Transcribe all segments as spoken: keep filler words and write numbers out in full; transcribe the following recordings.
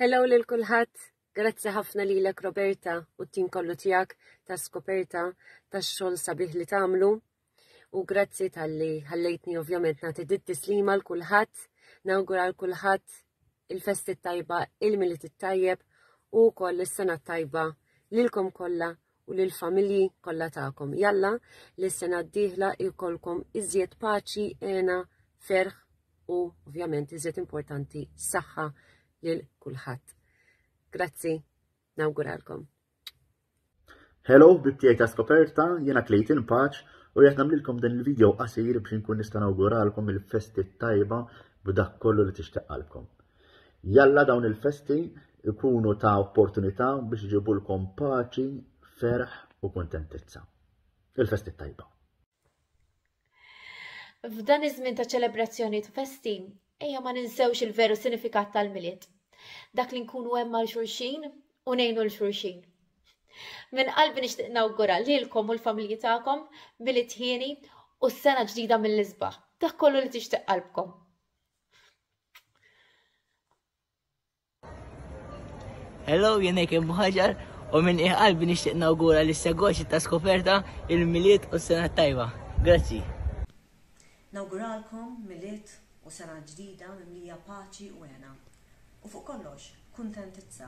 Hello lil kulħadd. Grazzi ħafna lilek, Roberta, u t-tim kollu tiegħek ta' Skoperta, tax-xogħol sabiħ li tagħmlu. U grazzi talli ħallejtni ovvjament nagħti dit tislima l kulħadd, nawgura l kulħadd il-festi tajba, il-Milied it-tajjeb u wkoll is-sena tajba lilkom kollha u lill-familji kollha tagħkom. Jalla li s-sena d-dieħla jkollkom iżjed paċi, hena, ferħ u ovvjament, iżjed importanti, saħħa lil kulħadd. Grazzi, nawguralkom. Hello, ħbieb tiegħi ta' Skoperta, jiena Clayton Pace u qed nagħmlilkom dan il-video qasir biex nkun nista' nawguralkom il-festi tajba b'dak kollu li tixtieq qalbkom. Jalla dawn il-festi ikunu ta' opportunità biex iġibulkom paċi, ferħ u kuntentizza. Il-festi tajba. F'dan iż-żmien ta' ċelebrazzjoni u festi, ejja ma ninsewx il-veru sinifikat tal-Milied. Dak li nkunu hemm għal xulxin u ngħinu 'l xulxin. Minn qalbi nixtieq nawgura lilkom u l-familji tagħkom Milied hieni u s-sena ġdida mill-isbaħ. Dak kollu li tixtieq qalbkom. Hello, jien Ekin Buħaġar u minn qalbi nixtieq nawgura lis segwaċi ta' Skoperta il-Milied u s-sena tajba. Grazzi. Nawguralkom Milied u sena ġdida mimlija paċi u hena. U fuq kollox, kuntentizza.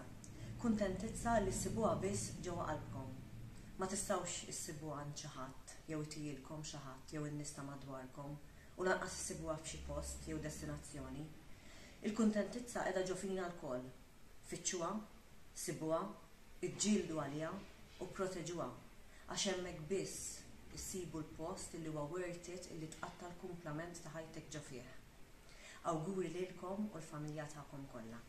Kuntentizza li ssibuha biss ġewwa qalbkom. Ma tistgħux issibuha għand xi ħadd jew itihilkom xi ħadd jew in-nies ta' madwarkom u lanqas issibuha f'xi post jew destinazzjoni. Il-kuntentizza qiegħda ġo fina lkoll. Fittxuha, sibuha, iġġieldu għaliha u proteġuha għax hemmhekk biss issibu l-post illi huwa worth it illi tqatta' l-kumplament ta' ħajtek ġo fih. Awguri lilkom u l-familja tagħkom kollha.